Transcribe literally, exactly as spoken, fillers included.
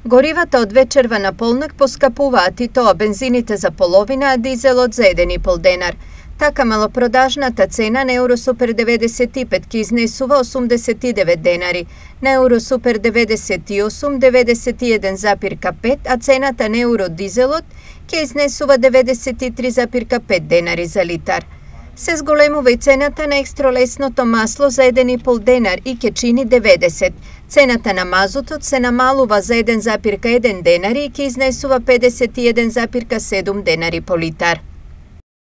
Горивата од вечерва на полнок поскапуваат и тоа бензините за половина, а дизелот за еден и пол денар. Така малопродажната цена на Евросупер деветдесет и пет ќе изнесува осумдесет и девет денари, на Евросупер деветдесет и осум деветдесет и еден запирка пет, а цената на Евродизелот ќе изнесува деветдесет и три запирка пет денари за литар. Се зголемува и цената на екстролесното масло за еден и пол денар и ќе чини деветдесет. Цената на мазутот се намалува за еден запирка еден денари и ќе изнесува педесет и еден запирка седум денари по литар.